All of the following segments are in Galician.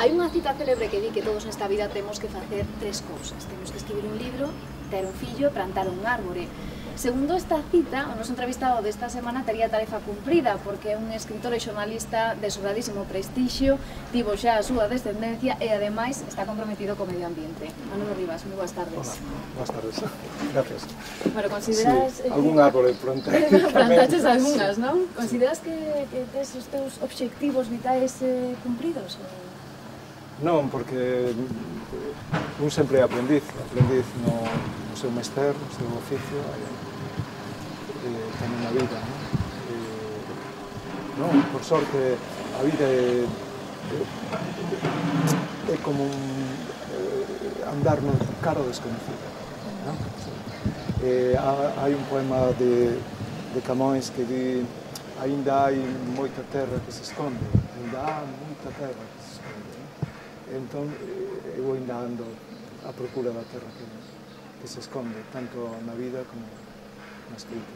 Hai unha cita célebre que di que todos nesta vida temos que facer tres cousas. Temos que escribir un libro, ter un fillo e plantar un árbore. Segundo esta cita, o noso entrevistado desta semana tería tarefa cumprida, porque é un escritor e xornalista de sobradísimo prestixio, tivo xa a súa descendencia e, ademais, está comprometido co medio ambiente. Manolo Rivas, moi boas tardes. Hola, boas tardes. Gracias. Bueno, consideras... Sí, algún árbore plantei. Plantaches algunhas, non? Consideras que tes os teus obxectivos vitais cumpridos? Non, porque un sempre é aprendiz no seu mester, no seu oficio, tamén na vida, non? Por sorte, a vida é como andar no caro desconocido, non? Hai un poema de Camões que di: ainda hai moita terra que se esconde, ainda há moita terra que se esconde. Entón, eu ainda ando á procura da terra que se esconde, tanto na vida como na escrita.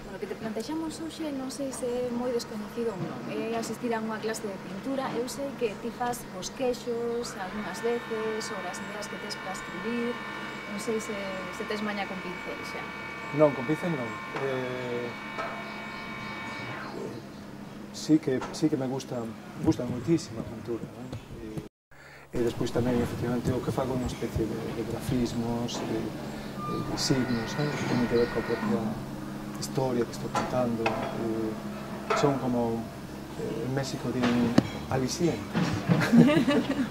Bueno, que te plantexamos hoxe, non sei se é moi desconocido ou non, é asistir a unha clase de pintura. Eu sei que ti fas bosquexos algunhas veces, ou as ideas que tes para escribir, non sei se tes maña con pincel xa. Non, con pincel non. Sí que me gusta moitísimo a pintura, non? E despois tamén, efectivamente, o que fago unha especie de grafismos, de signos, que teñen que ver coa propia historia que estou contando. Son como, en México din alicientes.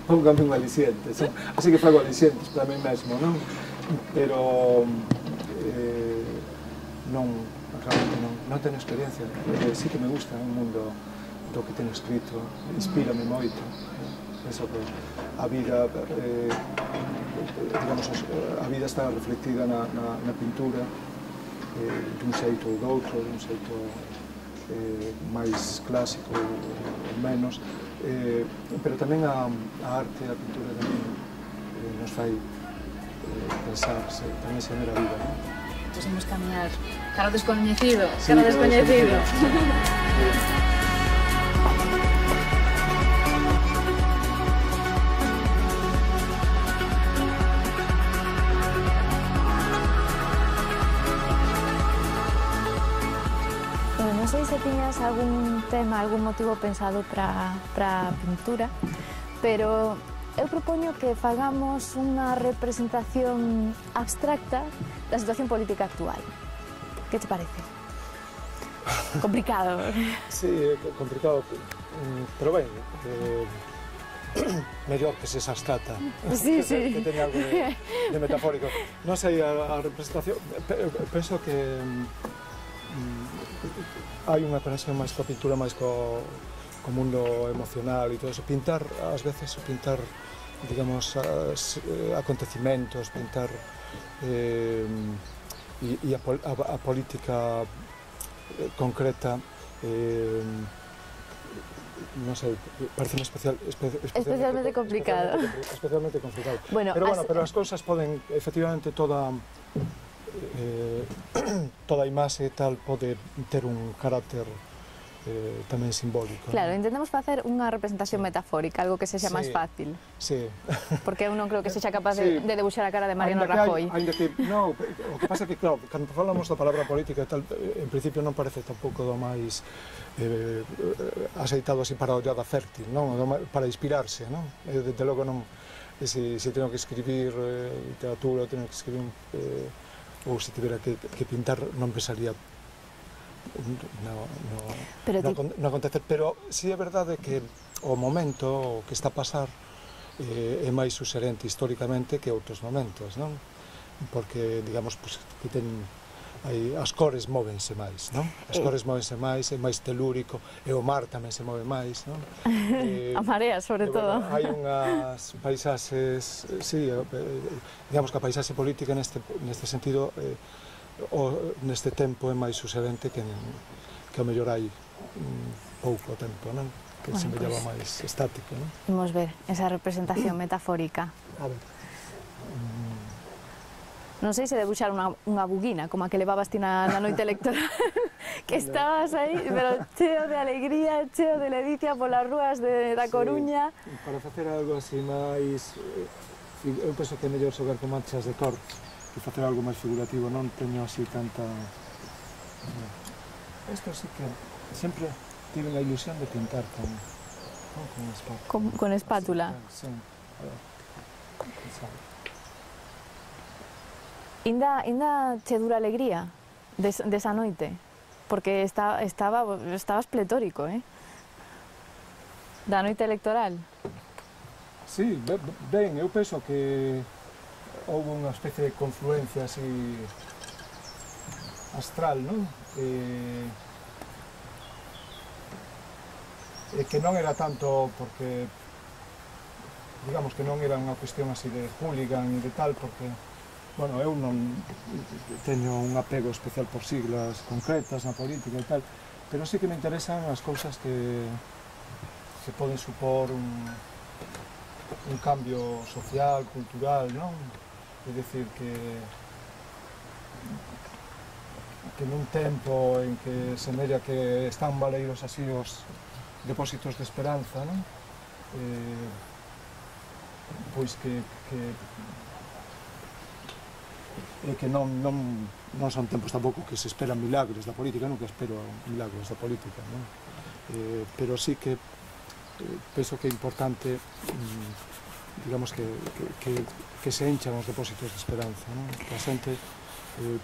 Póngame un aliciente. Así que fago alicientes para mí mesmo, non? Pero realmente non teño experiencia. Sí que me gusta un mundo do que teño escrito, inspírame moito. Penso que a vida, digamos, a vida está reflectida na pintura, dun xeito ou doutro, dun xeito máis clásico ou menos, pero tamén a arte, a pintura tamén nos fai pensar, tamén xenera vida, non? Pois imos camiñar cara ao descoñecido, cara ao descoñecido. Non sei se tiñas algún tema, algún motivo pensado para a pintura, pero eu propoño que fagamos unha representación abstracta da situación política actual. Que te parece? Complicado. Sí, complicado, pero ben, mellor que se abstracta. Sí. Que teña algo de metafórico. Non sei, a representación, penso que hai unha conexión máis coa pintura, máis co mundo emocional e todo eso. Pintar, ás veces, digamos, acontecimentos, pintar e a política concreta, non sei, parece especialmente complicado. Especialmente complicado. Pero as cousas poden, efectivamente, toda a imaxe tal pode ter un carácter tamén simbólico. Claro, intentamos facer unha representación metafórica, algo que sexa máis fácil. Sí. Porque eu non creo que sexa capaz de debuxar a cara de Mariano Rajoy. No, o que pasa é que, claro, cando falamos da palabra política e tal, en principio non parece tampouco do máis aceitado así para a ollada fértil, non? Para inspirarse, non? Desde logo non, se teño que escribir literatura, teño que escribir ou se tivera que pintar, non pensaría no acontecer, pero si é verdade que o momento que está a pasar é máis suxerente históricamente que outros momentos, non? Porque, digamos, que as cores móvense máis, non? As cores móvense máis, é máis telúrico, e o mar tamén se move máis, non? A marea, sobre todo. Hai unhas paisaxes, sí, digamos que a paisaxe política neste sentido, neste tempo é máis suxerente que ao mellor hai pouco tempo, non? Que se mellaba máis estático, non? Imos ver esa representación metafórica. A ver. Non sei se debuxar unha buguina, como a que levabas ti na noite electoral, que estabas aí, pero cheo de alegría, cheo de ledicia polas rúas da Coruña. Para facer algo así máis... Eu penso que é mellor xogar con manchas de cor que facer algo máis figurativo, non teño así tanta... Isto sí que sempre tive a ilusión de pintar con espátula. Con espátula? Sí. Inda che dura alegría desa noite? Porque estabas pletórico, da noite electoral. Sí, ben, eu penso que houve unha especie de confluencia así astral, non? E que non era tanto porque, digamos que non era unha cuestión así de hooligan e de tal, porque, bueno, eu non teño un apego especial por siglas concretas na política e tal, pero sí que me interesan as cousas que poden supor un cambio social, cultural, non? É dicir que nun tempo en que semella que están baleiros así os depósitos de esperanza, non? Pois que non son tempos tampouco que se esperan milagres da política, nunca espero milagres da política, non? Pero sí que penso que é importante, digamos, que se enchan os depósitos de esperanza, non? Que a xente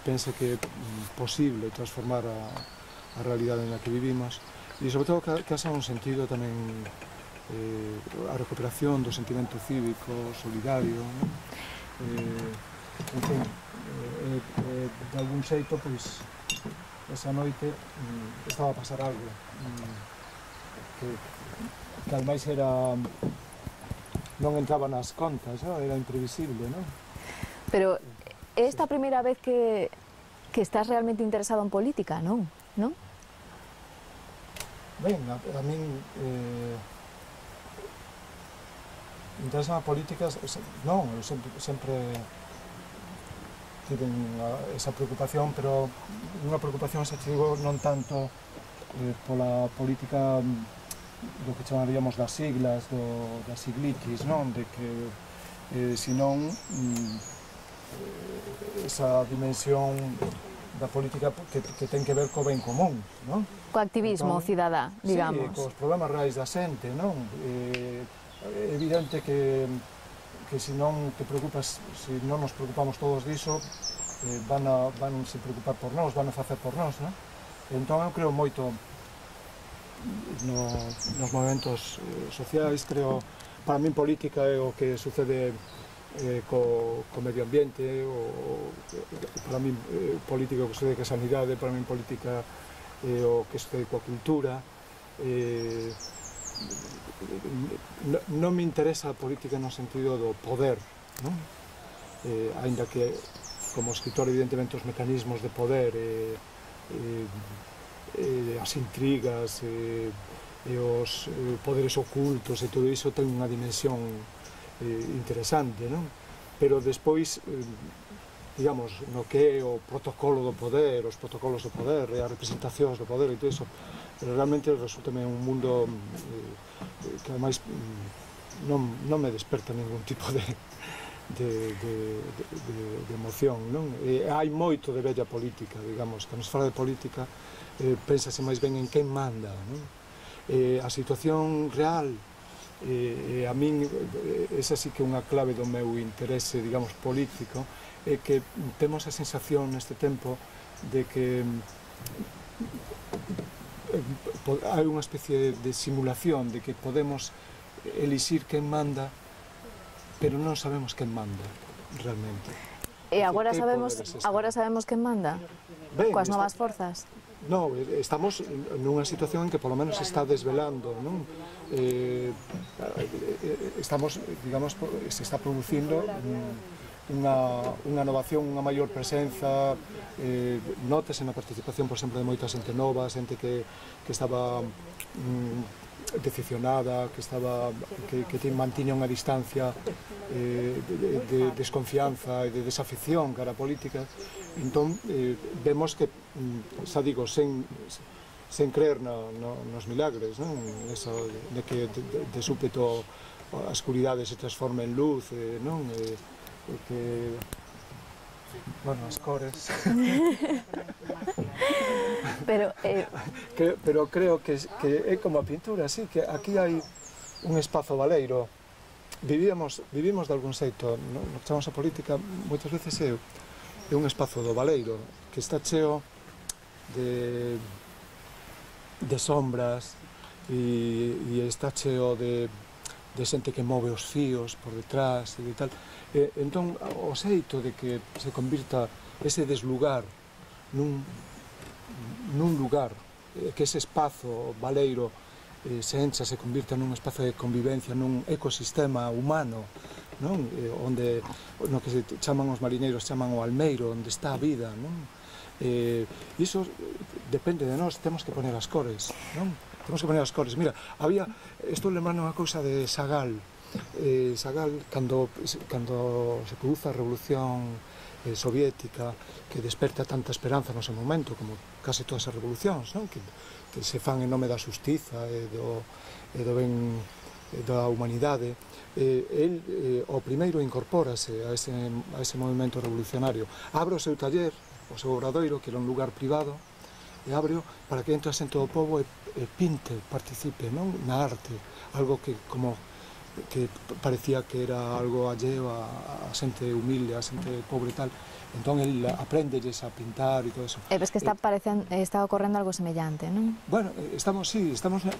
pense que é posible transformar a realidade na que vivimos e, sobre todo, que haxa un sentido tamén a recuperación do sentimento cívico, solidario, non? En fin, de algún xeito, pois, esa noite estaba a pasar algo que ademais non entraba nas contas, era imprevisible, non? Pero é esta a primeira vez que estás realmente interesado en política, non? Ben, a min interesa a política, non, eu sempre tive esa preocupación, pero unha preocupación, xa te digo, non tanto pola política do que chamaríamos das siglas, das siglitis, non? De que, senón, esa dimensión da política que ten que ver co ben común, non? Co activismo cidadá, digamos. Sí, cos problemas reais da xente, non? É evidente que se non te preocupas, se non nos preocupamos todos diso, van se preocupar por nós, van a facer por nós, non? Entón eu creo moito nos movimentos sociais, creo, para min política é o que sucede co medio ambiente, para min política o que sucede coa sanidade, para min política o que sucede coa cultura. Non me interesa a política no sentido do poder, non? Aínda que como escritor evidentemente os mecanismos de poder as intrigas e os poderes ocultos e todo iso ten unha dimensión interesante, non? Pero despois, digamos, no que é o protocolo do poder, os protocolos do poder e as representacións do poder e todo iso, realmente resultame un mundo que ademais non me desperta ningún tipo de emoción, non? Hai moito de bella política, digamos, cando se fala de política pénsase máis ben en quen manda, non? A situación real, a min, esa sí que é unha clave do meu interese, digamos, político, é que temos a sensación neste tempo de que hai unha especie de simulación de que podemos elixir quen manda, pero non sabemos quen manda realmente. E agora sabemos quen manda? Coas novas forzas? Non, estamos nunha situación en que polo menos se está desvelando, non? Estamos, digamos, se está producindo unha innovación, unha maior presenza, nótese na participación, por exemplo, de moita xente nova, xente que estaba decepcionada, que mantiña unha distancia de desconfianza e de desafección cara a política. Entón, vemos que, xa digo, sen creer nos milagres, non? Eso de que de súpeto a escuridade se transforma en luz, non? Que, bueno, as cores... Pero creo que é como a pintura, sí, que aquí hai un espazo baleiro. Vivimos de algún xeito, no que chamamos a política, moitas veces é un espazo do baleiro, que está cheo de sombras e está cheo de xente que move os fíos por detrás e tal. Entón, o xeito de que se convirta ese deslugar nun lugar, que ese espazo baleiro se encha, se convirta nun espazo de convivencia, nun ecosistema humano, non? Onde, no que se chaman os marineiros, chaman o almeiro, onde está a vida, non? Iso depende de nós, temos que poner as cores, non? Temos que poner as cores. Mira, estou lembrando unha cousa de Chagall. Chagall, cando se produza a revolución soviética, que desperta tanta esperanza no seu momento, como case todas as revolucións, non? Que se fan en nome da xustiza e do ben da humanidade. O primeiro incorpórase a ese movimento revolucionario. Abre o seu taller, o seu obradoiro, que era un lugar privado, e abreo para que entre a xente do pobo e pinte, participe, non? Na arte, algo que parecía que era algo alleo a xente humilde, a xente pobre e tal. Entón, el aprendelles a pintar e todo eso. E ves que está ocorrendo algo semellante, non? Bueno, estamos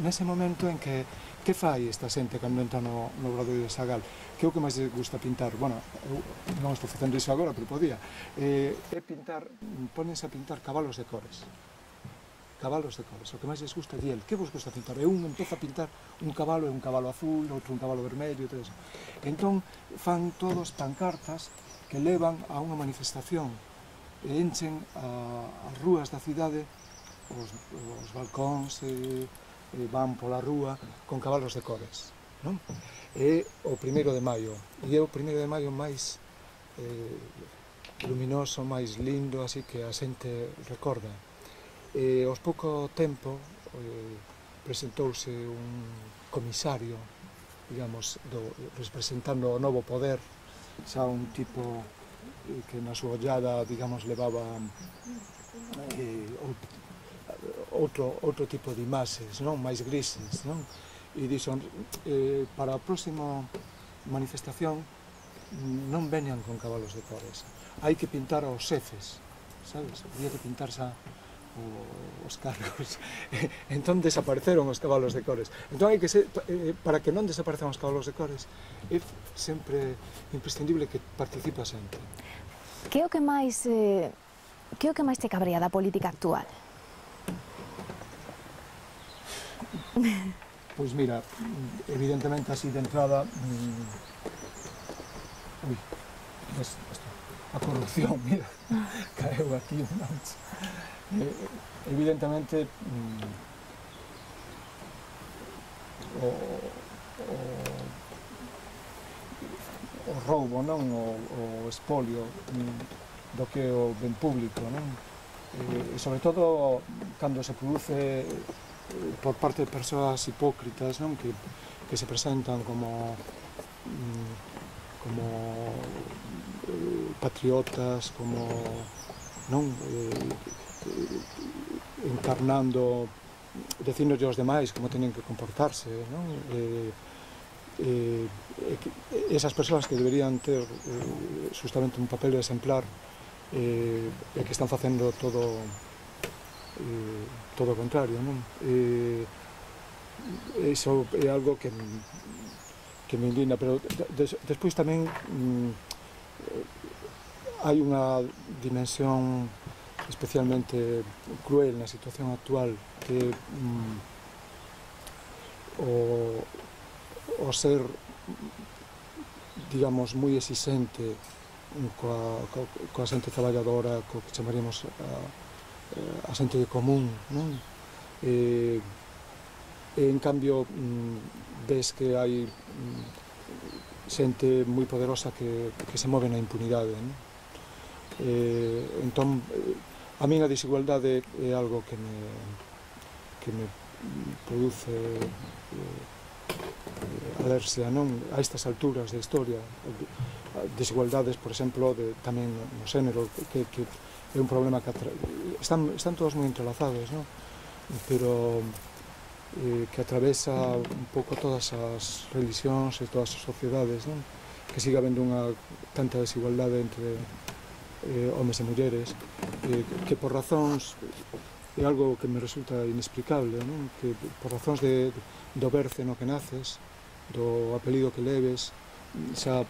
nese momento en que fai esta xente cando entra no obradoiro de Chagall? Que é o que máis lle gusta pintar? Bueno, eu non estou facendo iso agora, pero podía. É pintar, pónense a pintar cabalos de cores. Cabalos de cores, o que máis les gusta é el. Que vos gusta pintar? E un empeza a pintar un cabalo azul, outro un cabalo vermello e todo eso. Entón, fan todos pancartas que levan a unha manifestación e enchen as rúas da cidade, os balcóns van pola rúa con cabalos de cores, non? É o 1º de maio, e é o 1º de maio máis luminoso, máis lindo, así que a xente recorda. Aos pouco tempo presentouse un comisario, digamos, representando o novo poder, xa un tipo que na súa ollada, digamos, levaba outro tipo de imaxes, non? Máis grises, non? E dixo, para a próxima manifestación non veñan con cabalos de cores, hai que pintar aos xefes, sabes? Había que pintar xa os cargos. Entón desapareceron os cabalos de cores. Entón hai que ser, para que non desaparezan os cabalos de cores, é sempre imprescindible que participa sempre. Que é o que máis te cabrea da política actual? Pois mira, evidentemente así de entrada, a corrupción, mira, caeu aquí un mancha. Evidentemente o roubo, non? O espolio do que é o ben público, non? E sobre todo cando se produce por parte de persoas hipócritas, non? Que se presentan como patriotas, como, non? Encarnando, diciéndolle aos demais como teñen que comportarse, non? Esas persoas que deberían ter justamente un papel exemplar e que están facendo todo o contrario, non? Iso é algo que me indigna, pero despois tamén hai unha dimensión especialmente cruel na situación actual, que o ser, digamos, moi exixente coa xente traballadora, co que chamaríamos a xente común, non? en cambio ves que hai xente moi poderosa que se move na impunidade, non? Entón, a min a desigualdade é algo que me produce alerxia, non? A estas alturas da historia, desigualdades, por exemplo, tamén no xénero, que é un problema que están todos moi entrelazados, non? Pero que atravesa un pouco todas as religións e todas as sociedades, non? Que siga habendo tanta desigualdade entre homes e mulleres, que por razóns, é algo que me resulta inexplicable, non? Que por razóns do berce no que naces, do apelido que leves, xa,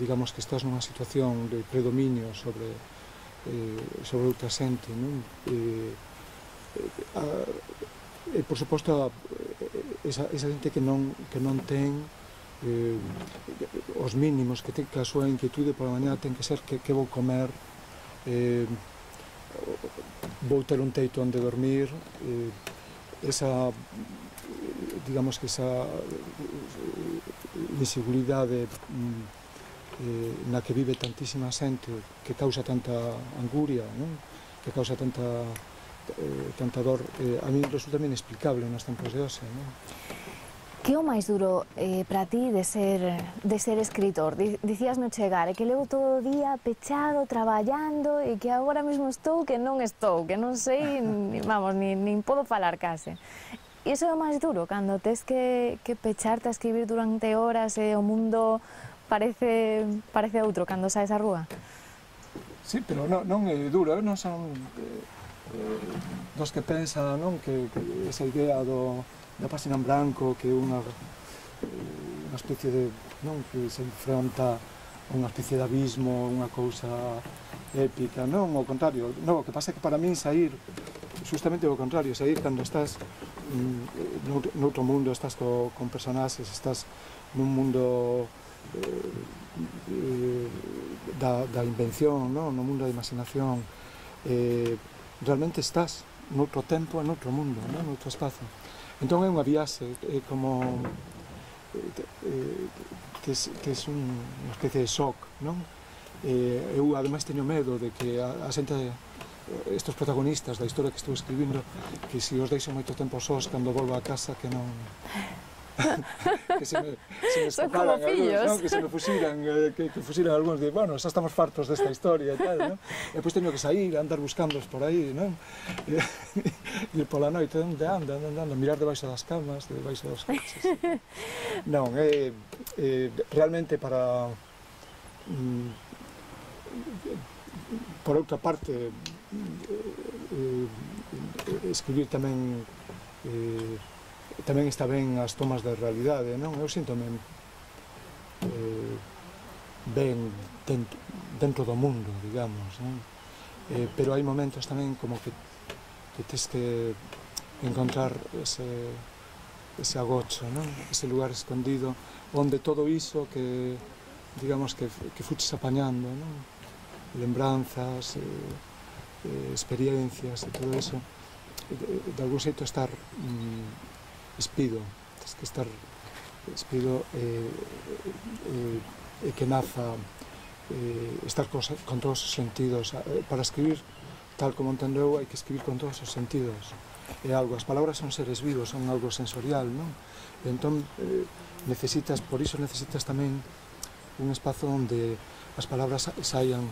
digamos que estás nunha situación de predominio sobre outra xente, non? E por suposto, esa xente que non ten os mínimos, que ten que a súa inquietude pola mañá ten que ser que vou comer, vou ter un teito onde dormir, esa, digamos que esa inseguridade na que vive tantísima xente, que causa tanta anguria, non? Que causa tanta dor, a mí resulta inexplicable nos tempos de hoxe, non? Que é o máis duro para ti de ser escritor? Dicías no chegar, que levo todo o día pechado, traballando, e que agora mesmo estou, que non sei, vamos, nin podo falar case. E iso é o máis duro, cando tes que pecharte a escribir durante horas e o mundo parece outro cando saes á rúa? Sí, pero non é duro, non son dos que pensan, non, que esa idea da página en branco, que é unha especie de, non, que se enfronta a unha especie de abismo, unha cousa épica, non, ao contrario, non, o que pasa é que para min sair, justamente o contrario, sair cando estás noutro mundo, estás con personaxes, estás nun mundo da invención, non, no mundo da imaginación, realmente estás noutro tempo e noutro mundo, non, noutro espazo. Entón é unha viaxe, é como tes unha especie de shock, non? Eu ademais teño medo de que a xente, estes protagonistas da historia que estou escribindo, que se os deixo moito tempo sós cando volvo a casa, que non... que se me escaparan algúns, non? Que se me fuxiran, que fuxiran algúns de, bueno, xa estamos fartos desta historia e tal, non? E depois teño que sair, andar buscándoos por aí, non? Ir pola noite, onde anda, mirar debaixo das camas, debaixo dos coches. Non, realmente para... por outra parte, escribir tamén está ben as tomas de realidade, non? Eu síntome ben dentro do mundo, digamos, non? Pero hai momentos tamén como que tes que encontrar ese agocho, non? Ese lugar escondido onde todo iso que, digamos, que fuches apañando, non? Lembranzas, experiencias e todo iso, de algún xeito estar espido, tens que estar espido e que naza, estar con todos os sentidos. Para escribir, tal como entendo eu, hai que escribir con todos os sentidos. É algo, as palabras son seres vivos, son algo sensorial, non? E entón, por iso necesitas tamén un espazo onde as palabras saian,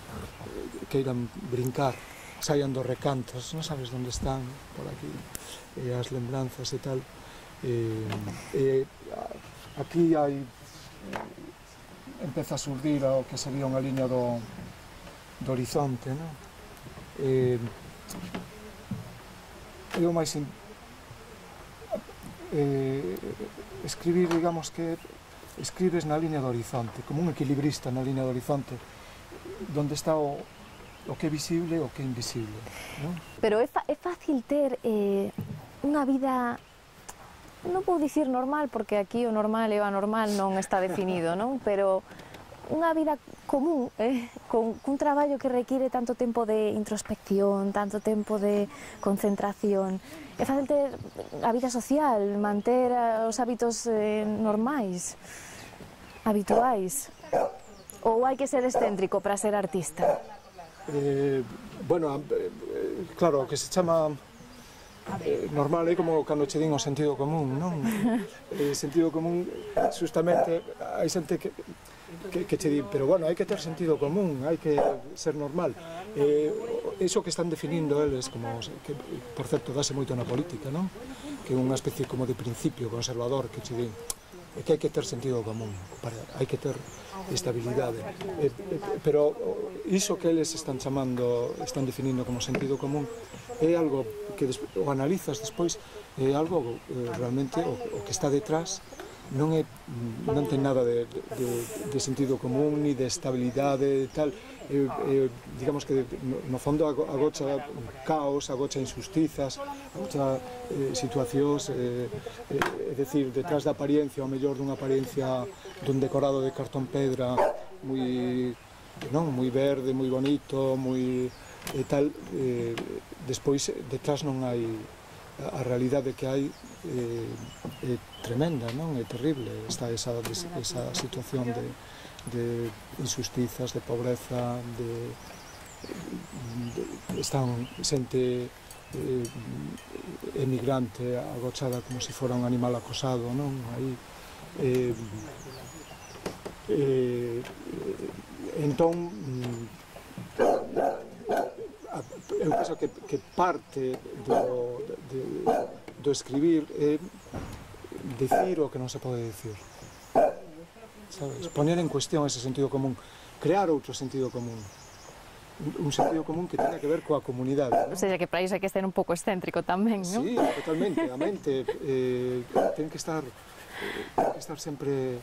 queiran brincar, saian dos recantos, non sabes onde están, por aquí, as lembranzas e tal. Aquí empeza a surdir o que sería unha liña do horizonte, non? É o máis escribir, digamos que escribes na liña do horizonte, como un equilibrista na liña do horizonte, donde está o que é visible e o que é invisible, non? Pero é fácil ter unha vida, non vou dicir normal, porque aquí o normal e o anormal non está definido, non? Pero unha vida común, cun traballo que require tanto tempo de introspección, tanto tempo de concentración. É fácil ter a vida social, manter os hábitos normais, habituais. Ou hai que ser excéntrico para ser artista? Bueno, claro, o que se chama normal é como cando che din o sentido común, non? Sentido común, justamente, hai xente que che di, pero bueno, hai que ter sentido común, hai que ser normal. Iso que están definindo eles, como, que, por certo, dase moito na política, non? Que é unha especie como de principio conservador que che din, é que hai que ter sentido común, hai que ter estabilidade. Pero iso que eles están chamando, están definindo como sentido común, é algo que o analizas despois, é algo realmente o que está detrás non ten nada de sentido común ni de estabilidade e tal. Digamos que no fondo agocha caos, agocha injustizas, agocha situacións, é dicir, detrás da apariencia, ao mellor dunha apariencia dun decorado de cartón pedra moi verde, moi bonito, moi tal, despois detrás non hai, a realidade que hai é tremenda, non? É terrible, está esa situación de injustizas, de pobreza, están xente emigrante agochada como se fora un animal acosado, non? Aí, entón, eu penso que parte do escribir é dicir o que non se pode dicir, sabes? Poner en cuestión ese sentido común, crear outro sentido común, un sentido común que tenga que ver coa comunidade, non? O sea, que para iso hai que ser un pouco excéntrico tamén, non? Sí, totalmente, a mente ten que estar sempre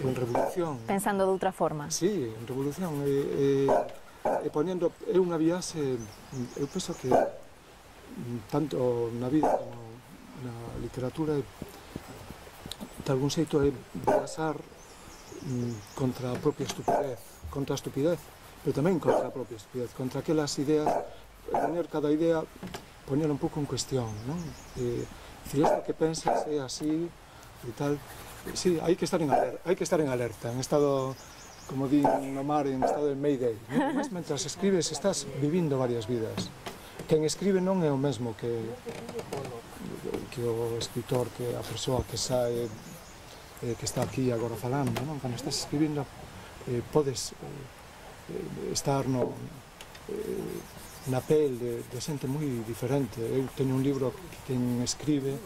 en revolución. Pensando de outra forma. Sí, en revolución, e ponendo, é unha viaxe, eu penso que tanto na vida como na literatura de algún xeito é viaxar contra a propia estupidez, pero tamén contra a propia estupidez, contra aquelas ideas, poner cada idea, poner un pouco en cuestión, non? Dicir, isto que pensas é así e tal. Sí, hai que estar en alerta, en estado, como di no mar, en estado de Mayday, non? Mas mentras escribes estás vivindo varias vidas. Quen escribe non é o mesmo que o escritor, que a persoa que sae, que está aquí agora falando, non? Cando estás escribindo podes estar na pel de xente moi diferente. Eu teño un libro que quen escribe,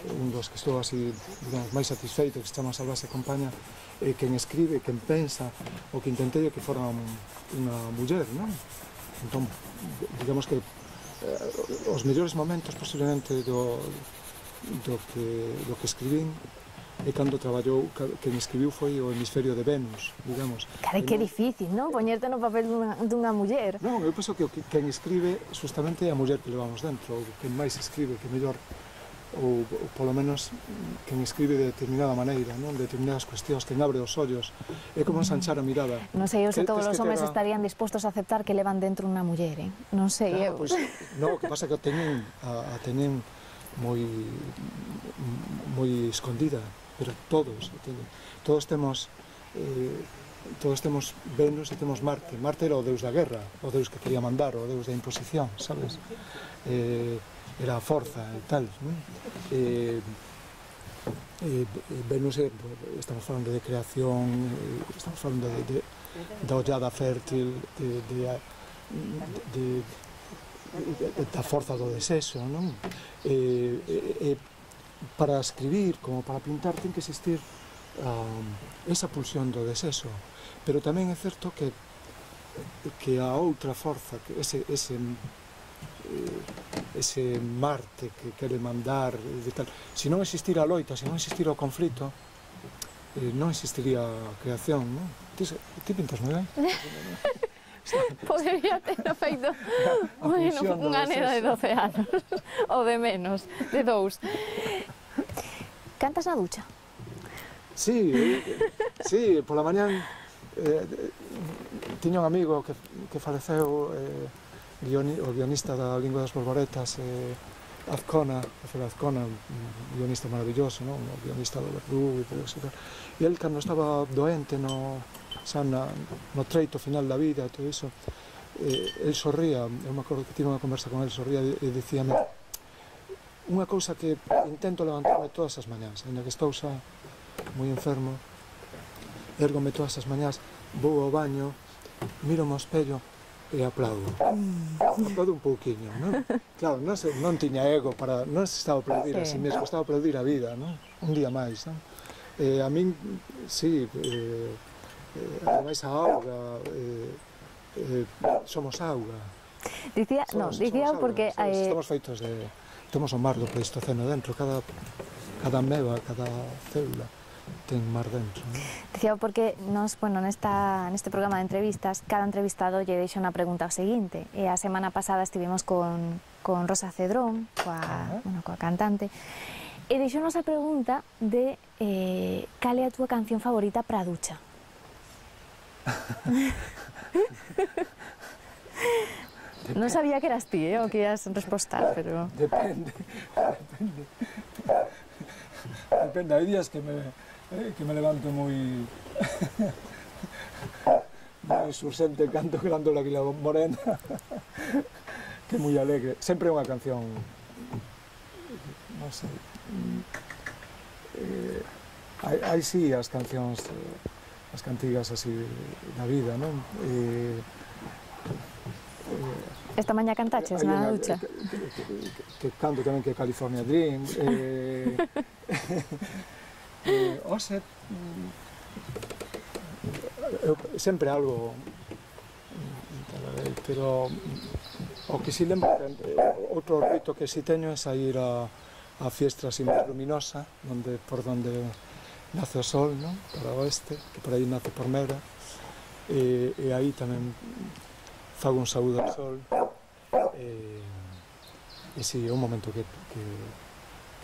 un dos que estou así, digamos, máis satisfeito, que se chama Salvase Compaña, quen escribe, quen pensa, o que intentei é que fora unha muller, non? Entón, digamos que os mellores momentos posiblemente do que escribín é cando traballou, quen escribiu foi o hemisferio de Venus, digamos. Carai, que difícil, non? Poñerte no papel dunha muller. Non, eu penso que quen escribe justamente é a muller que levamos dentro, ou quen máis escribe, que mellor, ou polo menos quen escribe de determinada maneira, non? De determinadas cuestións, quen abre os ollos, é como ensanchar a mirada. Non sei eu se todos os homes estarían dispostos a aceptar que levan dentro unha muller, non sei eu. Non, o que pasa é que a teñen moi escondida, pero todos temos Venus e temos Marte. Marte era o deus da guerra, o deus que quería mandar, o deus da imposición, sabes? Era a forza e tal, non? Venus, estamos falando de creación, estamos falando da ollada fértil, da forza do desexo, non? Para escribir, como para pintar, ten que existir esa pulsión do desexo, pero tamén é certo que a outra forza, que ese Marte que quere mandar, se non existira a loita, se non existira o conflito, non existiría a creación, non? Ti pintas moi ben. Podería ter feito unha nena de 12 anos, ou de menos, de 2. Cantas na ducha? Sí, pola mañán tiña un amigo que faleceu, o guionista da Lingua das Borboretas, Azcona, un guionista maravilloso, non? O guionista do Verdugo e todo eso. E el, cando estaba doente, no treito final da vida e todo iso, el sorría, eu me acordo que tive unha conversa con el, sorría e dicíame unha cousa que intento levantarme todas as mañás, ainda que estou xa moi enfermo, érgome todas as mañás, vou ao baño, miro ao espello e aplaudo. Aplaudo un pouquiño, non? Claro, non tiña ego para... Non se estaba a aplaudir a si mesmo, estaba a aplaudir a vida, non? Un día máis, non? A min, sí, ademais a auga, somos auga. Dicía porque... Estamos feitos de... Temos o mar do Pleistoceno dentro, cada ameba, cada célula ten mar dentro. Dicía porque nos, neste programa de entrevistas, cada entrevistado lle deixa unha pregunta ao seguinte, e a semana pasada estivemos con Rosa Cedrón, coa cantante, e deixounos a pregunta de cal é a túa canción favorita para a ducha. Non sabía que eras ti, o que ias respostar, pero... Depende. Hai días que me levanto moi sursente, canto Grándola Águila Morena, que é moi alegre. Sempre é unha canción, non sei, hai sí as cancións, as cantigas así da vida, non? Esta mañá cantaches na ducha? Que canto tamén, que California Dream. Ose, sempre algo, pero o que si lembro, outro rito que si teño é sair a fiestra así máis luminosa, por donde nace o sol, non? Para o oeste, que por aí nace por Mera, e aí tamén fago un saúdo ao sol, e si, é un momento que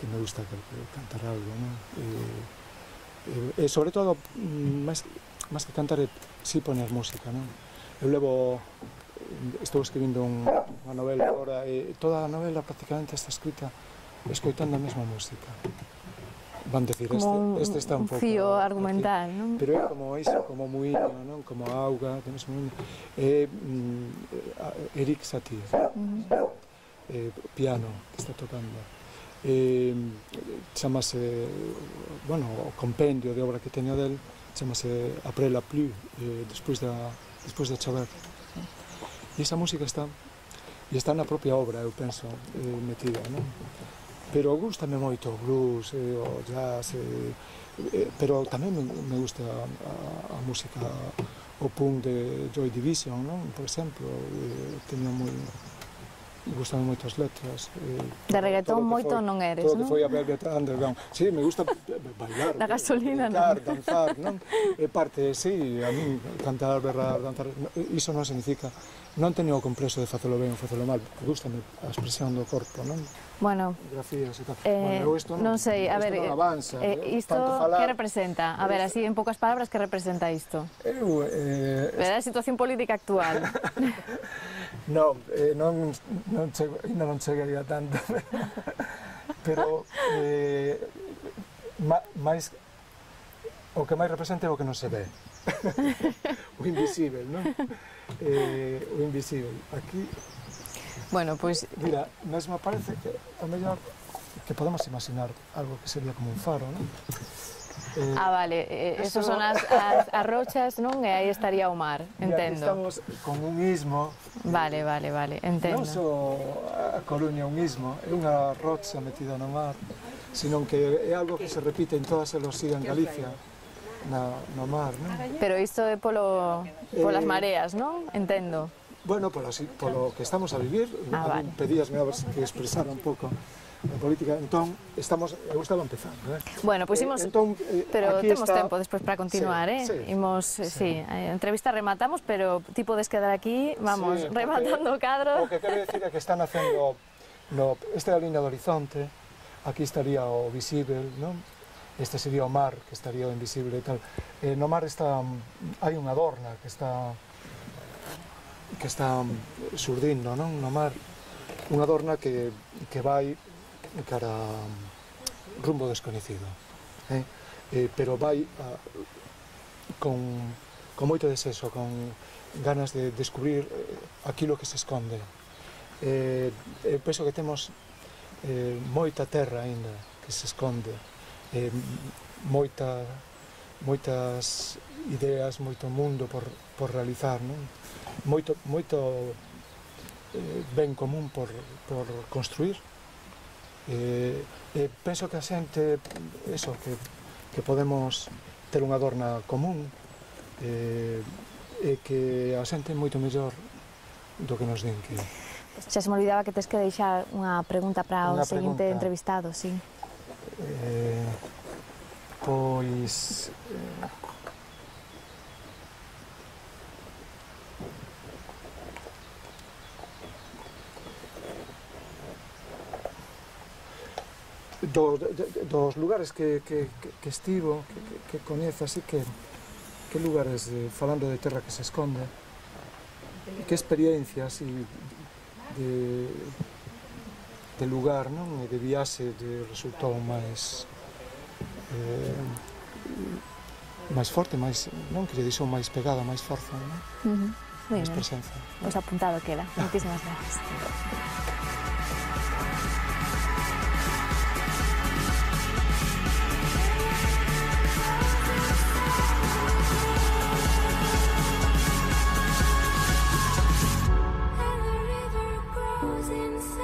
me gusta cantar algo, non? E sobre todo, máis que cantar, si poñer música, non? Eu estou escribindo unha novela agora, e toda a novela prácticamente está escrita escoitando a mesma música. Van decir, este está un pouco... Un fío argumental, non? Pero é como iso, como muiño, non? Como auga, temos muiño. Eric Satie, piano, que está tocando. Chamase, o compendio de obra que teño del, chamase Après la pluie, despois de chover. E esa música está na propia obra, eu penso, metida, non? Pero gústame moito o blues, o jazz, pero tamén me gusta a música, o punk de Joy Division, non? Por exemplo, gustame moito as letras. De reggaetón moito non eres, non? Todo que foi a Velvet Underground. Sí, me gusta bailar. Da gasolina, non? Danzar, non? É parte, sí, a mí cantar, berrar, danzar, iso non significa... Non teño o complexo de facelo ben ou facelo mal, gustame a expresión do corpo, non? Bueno, grafías e tal. Non sei, a ver, isto que representa? A ver, así en poucas palabras, que representa isto? Verá a situación política actual. Ainda non chegaría tanto, pero o que máis representa é o que non se ve. O invisible, non? O invisible. Aquí... Bueno, pois... Mira, mesmo parece que a mellor que podemos imaginar algo que sería como un faro, non? Vale, esos son as rochas, non? E aí estaría o mar, entendo. Estamos con un istmo. Vale, entendo. Non só a Coruña un istmo, é unha rocha metida no mar, senón que é algo que se repite en todas as en Galicia. No mar, non? Pero isto é polas mareas, non? Entendo. Bueno, polo que estamos a vivir, vale. Pedíasme a ver que expresara un pouco a política, entón, eu estaba empezando, Bueno, pois imos, pero temos tempo despois para continuar, Imos, a entrevista rematamos, pero ti podes quedar aquí, vamos, rematando o cadro. O que quero dicir é que están facendo, esta é a liña do horizonte, aquí estaría o visible, non? este sería o mar, que estaría o invisible e tal. No mar hai unha adorna que está surdindo, non? No mar, unha adorna que vai cara rumbo desconhecido, pero vai con moito deseso, con ganas de descubrir aquilo que se esconde. Penso que temos moita terra aínda que se esconde, moitas ideas, moito mundo por realizar, non? Moito ben común por construir. Penso que a xente, que podemos ter unha adorna común, e que a xente é moito mellor do que nos din que... Xa se me olvidaba que tes que deixar unha pregunta para o seguinte entrevistado, sí. Pois... dos lugares que estivo, que coñece, así que lugares, falando de terra que se esconde, que experiencias de lugar, non? E de viaxe resultou máis forte, non? Que lle dixou máis pegada, máis forza, non? Máis presenza. Pois apuntado queda. Moitísimas gracias. Inside